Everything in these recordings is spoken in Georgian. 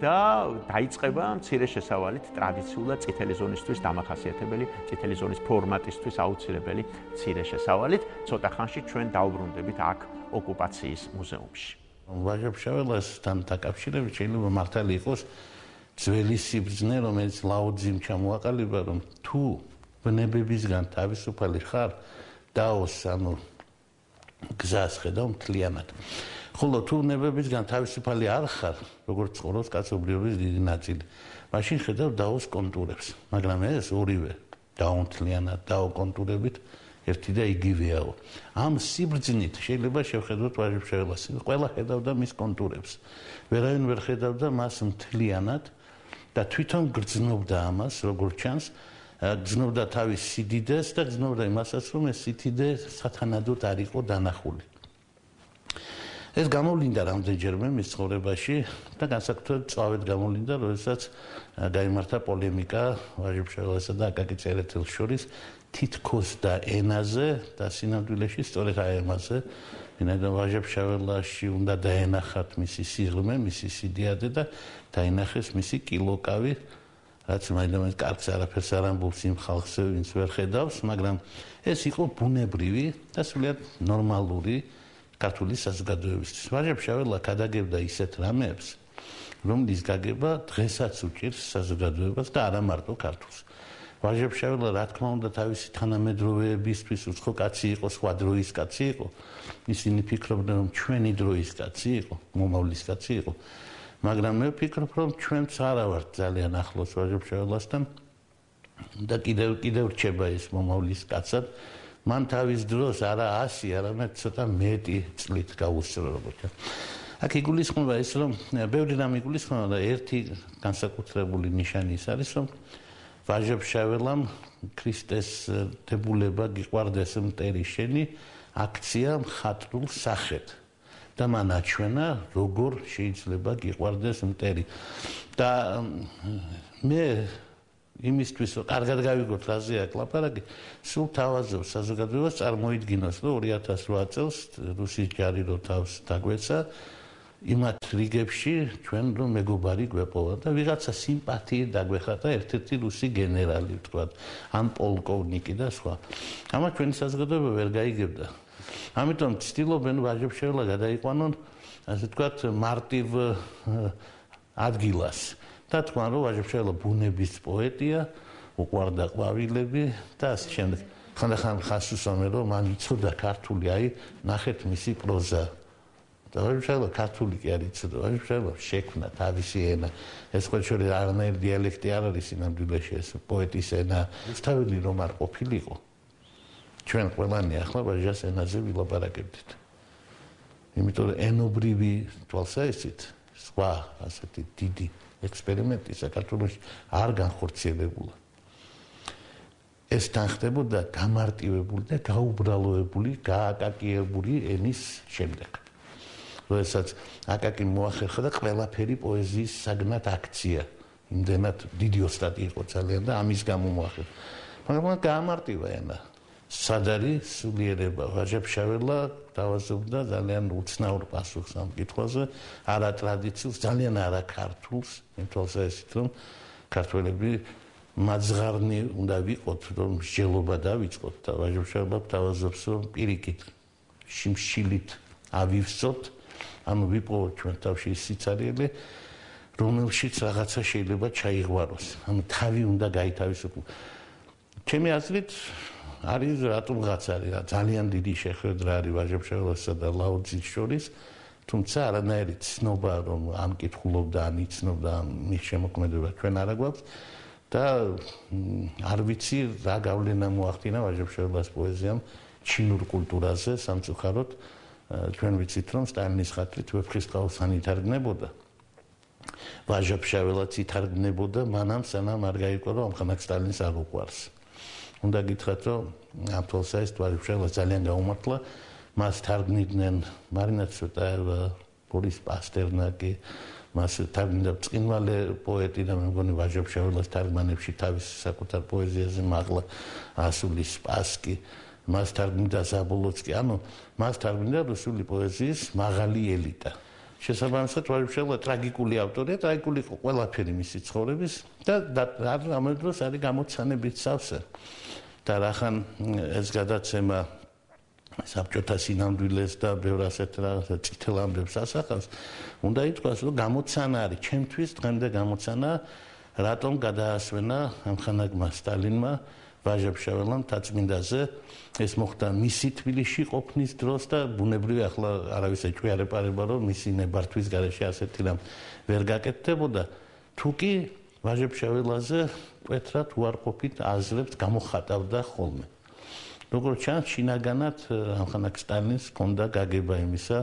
და დაიწყება მცირე შესავალით ტრადიციულად წითელი ზონისთვის დამახასიათებელი, წითელი ზონის ფორმატისთვის აუცილებელი მცირე შესავალით. ცოტა ხანში ჩვენ დაუბრუნდებით აქ ოკუპაციის მუზეუმში. ვაჟა-ფშაველასთან დაკავშირებით შეიძლება მართალი იყოს ძველი სიბრძნე, რომელიც ლაო-ძიმ ჩამოაყალიბა, რომ თუ ბნებებისგან თავისუფალი ხარ, დაოს ანუ გზას ხედავ მთლიანად. ხოლო თუ ბნებებისგან თავისუფალი არ ხარ, როგორც ცხოვრობს კაცობრიობის დიდი ნაწილი, მაშინ ხედავ დაოს კონტურებს, მაგრამ ეს ორივე დაუნთლიანად, დაუკონტურებით ერთი და იგივეაო. ამ სიბრძნით შეიძლება შევხედოთ ვაჟა-ფშაველას. ყველა ხედავდა მის კონტურებს. ვერავინ ვერ ხედავდა მას მთლიანად და თვითონ გრძნობდა ამას, როგორც ჩანს, გრძნობდა თავის სიდიდეს და გრძნობდა იმასაც, რომ ეს სიდიდე სათანადოდ არ იყო დანახული. ეს გამოვლინდა რამდენჯერმე მის ცხოვრებაში და განსაკუთრებით წავედ გამოვლინდა, როდესაც გაიმართა პოლემიკა ვაჟა-ფშაველასა და აკაკი წერეთელს შორის თითქოს და ენაზე და სინამდვილეში სწორედ აი ამაზე, ვინაიდან ვაჟა-ფშაველაში უნდა დაენახათ მისი სიღრმე, მისი სიდიადე და დაინახეს მისი კილოკავი, რაც მაინც კარგს არაფერს არ ამბობს იმ ხალხზე, ვინც ვერ ხედავს, მაგრამ ეს იყო ბუნებრივი და სრულიად ნორმალური ქართული საზოგადოებისთვის. ვაჟა-ფშაველა გადაგებდა ისეთ რამებს, რომლის გაგება დღესაც უჭირს საზოგადოებას და არა მარტო ქართულს. ვაჟა-ფშაველა რა თქმა უნდა თავისი თანამედროვეებისთვის უცხო კაცი იყო, სხვა დროის კაცი იყო. ისინი ფიქრობდნენ, რომ ჩვენი დროის კაცი იყო, მომავლის კაცი იყო. მაგრამ მე ვფიქრობ, რომ ჩვენც არა ვართ ძალიან ახლოს ვაჟა-ფშაველასთან და კიდევ რჩება ეს მომავლის კაცად. მან თავის დროს არა 100, არამედ ცოტა მეტი წლით გაუსწრო როგორც. აქ იგულისხმება ის, რომ ბევრი რამ იგულისხმება და ერთი განსაკუთრებული ნიშანი ის არის, რომ ვაჟა-ფშაველამ ქრისტეს დებულება გიყვარდეს მტერი შენი აქცია მხატვრულ სახედ და მან აჩვენა როგორ შეიძლება გიყვარდეს მტერი და მე იმისთვის რომ კარგად გავიგოთ რაზე აქ ლაპარაკი, სულ თავაზობს საზოგადოებას წარმოიდგინოს, რომ 2008 წელს რუსის ჯარი რო თავს დაგვეცა იმათ რიგებში ჩვენ რომ მეგობარი გვეპოვა და ვიღაცა სიმპათიით დაგვეხატა ერთ-ერთი რუსი გენერალი ვთქვათ, ან პოლკოვნიკი და სხვა. ამას ჩვენი საზოგადოება ვერ გაიგებდა. ამიტომ ცდილობენ ვაჟა-ფშაველა გადაიყვანონ, ასე ვთქვათ, მარტივ ადგილას. და თქვა რომ ვაჟა-ფშაველა ბუნების პოეტია, უყვარდა ყვავილები და ასე შემდეგ. ხანდახან ხას უსვამენ რომ მან იცოდა ქართული, აი ნახეთ მისი პროზა. და ვაჟა-ფშაველა ქართული კი არ იცოდა, ვაჟა-ფშაველა შექმნა თავისი ენა. ეს ყოველშორის არანაირი დიალექტი არ არის სინამდვილეში, ეს პოეტის ენა. რუსთაველი რომ არ ყოფილიყო, ჩვენ ყველანი ახლა ვაჟას ენაზე ვილაპარაკებდით. იმიტომ რომ ენობრივი თვალსაჩინით სხვა ასეთი დიდი ექსპერიმენტი საქართველოში არ განხორციელებულა. ეს თანხდებოდა გამარტივებული და გაუბრალოებული, გააკაკიებული ენის შემდეგ. როდესაც აკაკი მოახერხა და ყველაფერი პოეზიის საგნად აქცია. იმდენად დიდი ოსტატი იყო ძალიან და ამის გამო მოახერხა. მაგრამ გაამარტივა ენა. სად არის სულიერება? ვაჟა-ფშაველა თავაზობდა ძალიან უცნაურ პასუხს ამ კითხვაზე, არა ტრადიციულს, ძალიან არა ქართულს, იმ თვალსაზრისით, რომ ქართველები მაძღარნი უნდა ვიყოთ, რომ მსჯელობა დავიწყოთ და ვაჟა-ფშაველა თავაზობს, რომ პირიქით შიმშილით ავივსოთ, ანუ ვიპოვოთ ჩვენ თავში სიცარიელე, რომელშიც რაღაცა შეიძლება ჩაიღვაროს, ანუ თავი უნდა გაითავისუფლოს. ჩემი აზრით არის რატომღაც არის ძალიან დიდი შეხვედრა არის ვაჟა-ფშაველასა და ლაო-ძის შორის, თუმცა არანაირი ცნობა რომ ამ კითხულობდა, ან იცნობდა მის შემოქმედება ჩვენ არა გვაქვს და არ ვიცი რა გავლენა მოახდინა ვაჟა-ფშაველას პოეზიამ ჩინურ კულტურაზე სამწუხაროდ. ჩვენ ვიცით რომ სტალინის ხათრით ვეფხისტყაოსანი ითარგმნებოდა. ვაჟა-ფშაველაც ითარგმნებოდა მანამ სანამ არ გაიგო რომ ამხანაგ სტალინს არ უყვარს. უნდა გითხრათ რომ ამ თვალსაზრისით ვაჟა-ფშაველას ძალიან გაუმართლა, მას თარგმნიდნენ მარინა ცვეტაევა, ბორის პასტერნაკი, მას თარგმნიდა ბრწყინვალე პოეტი და მე მგონი ვაჟა-ფშაველას თარგმანებში თავის საკუთარ პოეზიაზე მაღლა ასული სპასკი, მას თარგმნიდა ზაბოლოცკი, ანუ მას თარგმნიდა რუსული პოეზიის მაღალი ელიტა. შესაბამისად ვაჟებშელა ტრაგიკული ავტორია, ტრაგიკული ყველაფერი მისი ცხოვრების და ამ დროს არის გამოცანებით სავსე. და რახან ეს გადაცემა საბჭოთა სინამდვილეს და ბევრ ასეთ რაღაცა წითელ ამბებს ასახავს, უნდა ითქვას, რომ გამოცანა არის ჩემთვის დღემდე გამოცანა, რატომ გადაასვენა ამხანაგმა სტალინმა ვაჟებშეველამ თაწმინდაზე. ეს მოხდა მისი თბილისში ყოფნის დროს და ბუნებრივია ახლა არავის ეჭვიარეპარება, რომ მისი ნებართვის გარეშე ასეთი რამ ვერ გაკეთდებოდა. თუ კი ვაჟებშეველაზე მკვეთრად უარყოფით აზრებს გამოხატავდა ხოლმე. როგორც ჩანს, შინაგანად ამხანაგ სტალინს ჰქონდა გაგება იმისა,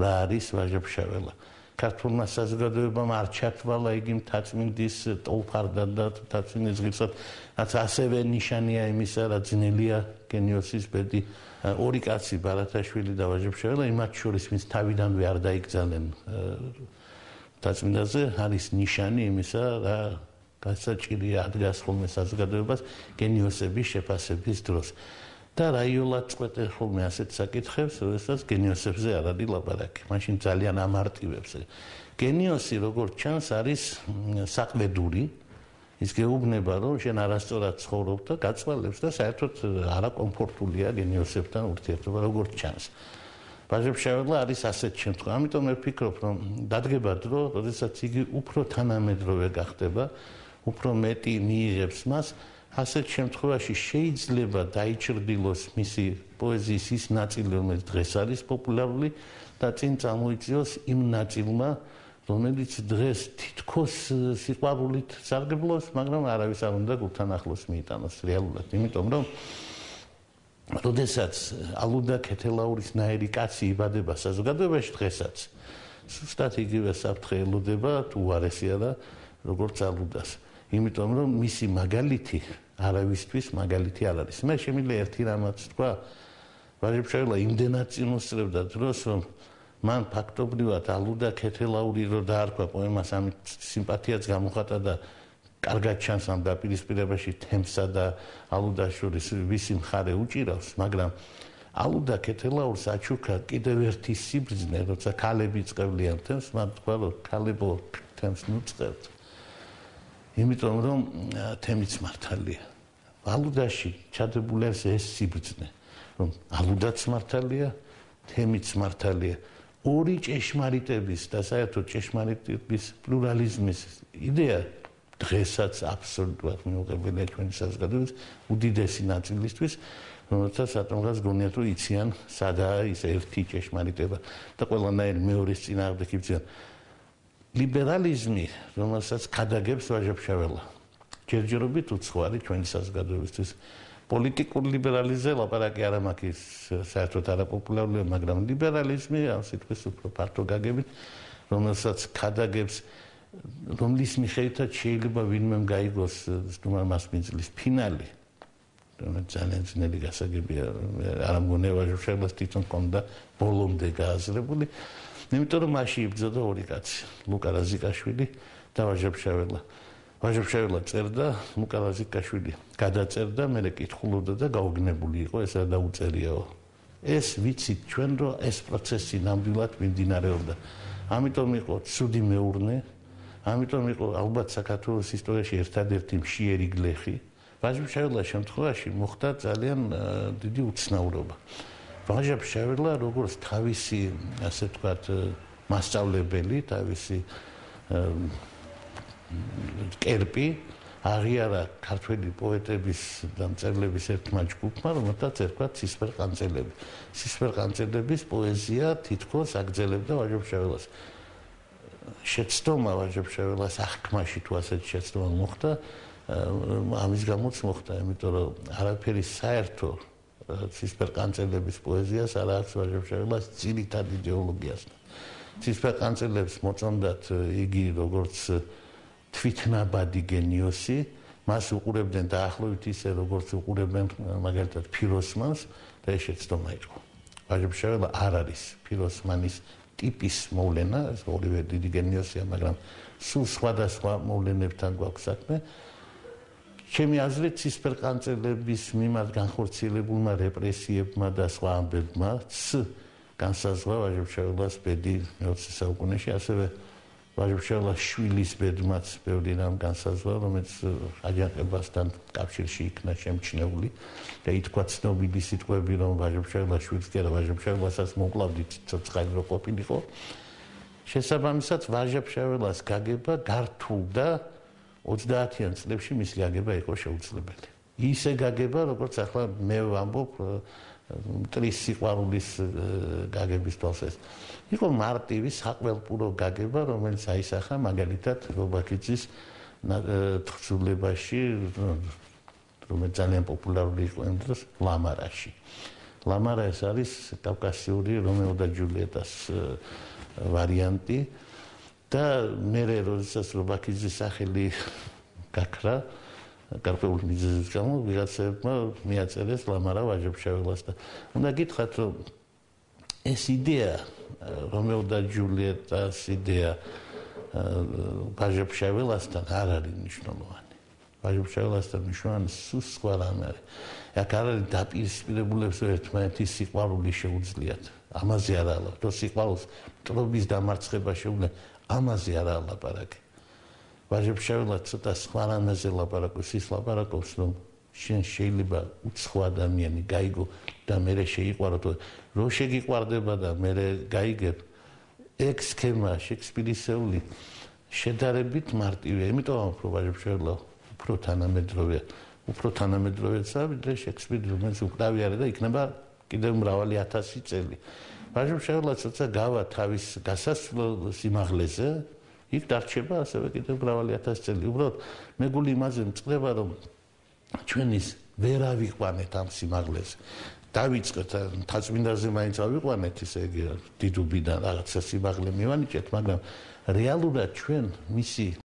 რა არის ვაჟებშეველა. ქართულმა საზოგადოებამ არ ჩათვალა იგი მთაწმინდის ტოლფარდად და მთაწმინდის ღირსად, რაც ასევე ნიშანია იმისა, რა ძნელია გენიოსის ბედი. ორი კაცი, ბარათაშვილი და ვაჟებშეველა, იმათ შორის ვინც თავიდანვე არ დაიკრძალენ მთაწმინდაზე, არის ნიშანი იმისა, რა გასაჭირია ადგას ხოლმე საზოგადოებას გენიოსების შეფასების დროს. და რაიოლად წყვეტე ხოლმე ასეთ საკითხებს, როდესაც გენიოსებზე არ არის ლაპარაკი. მაშინ ძალიან ამარტივებს. გენიოსი, როგორც ჩანს, არის საყლედური. ის გეუბნება, რომ შენ არასწორად ცხოვრობ და გაწვალებს და საერთოდ არაკომფორტულია გენიოსებთან ურთიერთობა, როგორც ჩანს. ვაჟებშეველა არის ასეთ შემთხვევაში. ამიტომ მე ვფიქრობ, რომ დადგება დრო, როდესაც იგი უფრო თანამედროვე გახდება, უფრო მეტი მიიღებს მას. ასეთ შემთხვევაში შეიძლება დაიჭრდილოს მისი პოეზიის ის ნაწილი, რომელიც დღეს არის პოპულარული და წინ წამოიწიოს იმ ნაწილმა, რომელიც დღეს თითქოს სიყვარულით სარგებლობს, მაგრამ არავის არ უნდა გულთან ახლოს მიიტანოს რეალურად, იმიტომ რომ როდესაც ალუდა ქეთელაურის ნაირი კაცი იბადება საზოგადოებაში დღესაც, სუსტად იგივე საფრთხე ელოდება თუ უარესია და როგორც ალუდას. იმიტომ რომ მისი მაგალითი არავისთვის მაგალითი არ არის. მე შემიძლია ერთი რამაც თქვა, ვაჟებშეველა იმდენად წინუსწრებდა დროს, რომ მან ფაქტობრივად ალუდა ქეთელაური რო დაარქვა პოემას, ამით სიმპათიაც გამოხატა და კარგად ჩანს ამ დაპირისპირებაში თემსა და ალუდას შორის ვისი მხარე უჭირავს, მაგრამ ალუდა ქეთელაურს აჩუქა კიდევ ერთი სიბრძნე, როცა ქალები წყევლიან თემს, მან თქვა, რომ ქალებო თემს ნუწყევთ. იმიტომ რომ თემიც მართალია. ალუდაში ჩადებული არის ეს სიბრძნე, რომ ალუდაც მართალია, თემიც მართალია. ორი ჭეშმარიტების და საერთოდ ჭეშმარიტების პლურალიზმის იდეა დღესაც აბსოლუტურად მიუღებელია ჩვენი საზოგადოების უდიდესი ნაწილისთვის, რომელსაც ატომღაც გონიათ, რომ იციან სადაა ის ერთი ჭეშმარიტება და ყველანაირი მეორის წინააღმდეგ იბრძვიან. ლიბერალიზმი, რომელსაც ქადაგებს ვაჟებშეველა, ჯერჯერობით უცხოარი ჩვენი საზოგადოებისთვის. პოლიტიკური ლიბერალიზმზე ლაპარაკი არ მაქვს, საერთოდ არაპოპულარულია, მაგრამ ლიბერალიზმი ამ სიტყვის უფრო ფართო გაგებით, რომელსაც ქადაგებს, რომლის მიხედვითაც შეიძლება ვინმემ გაიგოს სტუმარ მასპინძლის ფინალი. ძალიან ძნელი გასაგებია, არ მგონია ვაჟებშეველას თვითონ ჰქონდა ბოლომდე გააზრებული. იმიტომ რომ მაშინ იბრძოდა ორი კაცი, ლუკა რაზიკაშვილი და ვაჟებშეველა. ვაჟებშეველა წერდა, ლუკა რაზიკაშვილი გადაწერდა, მე კითხულობდა და გაუგნებული იყო, ეს არ დაუწერიაო. ეს ვიცით ჩვენ, რომ ეს პროცესი ნამდვილად მიმდინარეობდა. ამიტომ იყო ცუდი მეურნე, ამიტომ იყო ალბათ საქართველოს ისტორიაში ერთადერთი მშიერი გლეხი. ვაჟებშეველას შემთხვევაში მოხდა ძალიან დიდი უცნაურობა. ვაჟებშეველა როგორც თავისი, ასე ვთქვათ, მასწავლებელი, თავისი კერპი აღიარა ქართველი პოეტების და მწერლების ერთმა ჯგუფმა, რომელთაც ერქვა ცისფერყანწელები. ცისფერყანწელების პოეზია თითქოს აგრძელებდა ვაჟებშეველას. შეცდომა ვაჟებშეველას აღქმაში თუ ასეთი შეცდომა მოხდა, ამის გამოც მოხდა, იმიტომ რომ არაფერი საერთო ცისფერყანწელების პოეზიას არ აქვს ვაჟებშეველას ძირითად იდეოლოგიასთან. ცისფერყანწელებს მოწონდათ იგი როგორც თვითნაბადი გენიოსი, მას უყურებდნენ დაახლოებით ისე, როგორც უყურებენ მაგალითად ფიროსმანს და ეს შეცდომა იყო. ვაჟებშეველა არ არის ფიროსმანის ტიპის მოვლენა, ეს ორივე დიდი გენიოსია, მაგრამ სულ სხვადასხვა მოვლენებთან გვაქვს საქმე. ჩემი აზრით ცისფერყანწელების მიმართ განხორციელებულმა რეპრესიებმა და სხვა ამბებმა განსაზღვრა ვაჟა-ფშაველას ბედი მე-20 საუკუნეში, ასევე ვაჟა-ფშაველას შვილის ბედმაც ბევრი რამ განსაზღვრა, რომელიც აჯანყებასთან კავშირში იქნა შემჩნეული და ითქვა ცნობილი სიტყვები, რომ ვაჟა-ფშაველას შვილს კი არა, ვაჟა-ფშაველასაც მოკლავდით ცოცხალი რო ყოფილიყო. შესაბამისად, ვაჟა-ფშაველას გაგება გართულდა 30-იან წლებში მისი გაგება იყო შეუძლებელი. ისე გაგება, როგორც ახლა მე ვამბობ, მტრის სიყვარულის გაგების თვალსაჩინო. იყო მარტივი საყველპურო გაგება, რომელიც აისახა მაგალითად რობაქიძის თხზულებაში, რომელიც ძალიან პოპულარული იყო იმ დროს ლამარაში. ლამარა ეს არის კავკასიური რომეო და ჯულიეტას ვარიანტი და მე როდესაც რობაქიძის სახელი გაქრა გარკვეული მიზეზის გამო ვიღაცებმა მიაწერეს ლამარა ვაჟა-ფშაველას და უნდა გითხრათ რომ ეს იდეა რომეო და ჯულიეტას იდეა ვაჟა-ფშაველასთან არ არის მნიშვნელოვანი. ვაჟა-ფშაველასთან მნიშვნელოვანი სულ სხვა რამე არის. აქ არ არის დაპირისპირებულებს ერთმანეთის სიყვარული შეუძლიათ. ამაზე არ არის. თუ სიყვარულს მტრობის დამარცხება შეუძლია, ამაზე არ არის ლაპარაკი. ვაჟა-ფშაველა ცოტა სხვა რამეზე ლაპარაკობს, ის ლაპარაკობს, რომ შენ შეიძლება უცხო ადამიანი გაიგო და მე შეიყვარო, რო შეგიყვარდება და მე გაიგებ, ეგ სქემა შექსპირისეული შედარებით მარტივია, იმიტომ რომ ვაჟა-ფშაველა უფრო თანამედროვეა, უფრო თანამედროვეა, ვიდრე შექსპირი, რომელიც უკრავი არის და იქნება კიდევ მრავალი 1000 წელი. ვაჟა-ფშაველა ცოტა გავა თავის გასასვლელ სიმაღლეზე, იქ დარჩება ასევე კიდევ მრავალი 1000 წელი. უბრალოდ მე გული იმაზე მწყდება, რომ ჩვენ ის ვერ ავიყვანეთ ამ სიმაღლეზე. დავიწყეთ თაწმინდაზე მაინც ავიყვანეთ ისე დიდუბიდან რაღაცა სიმაღლე მივანიჭეთ, მაგრამ რეალურად ჩვენ მისი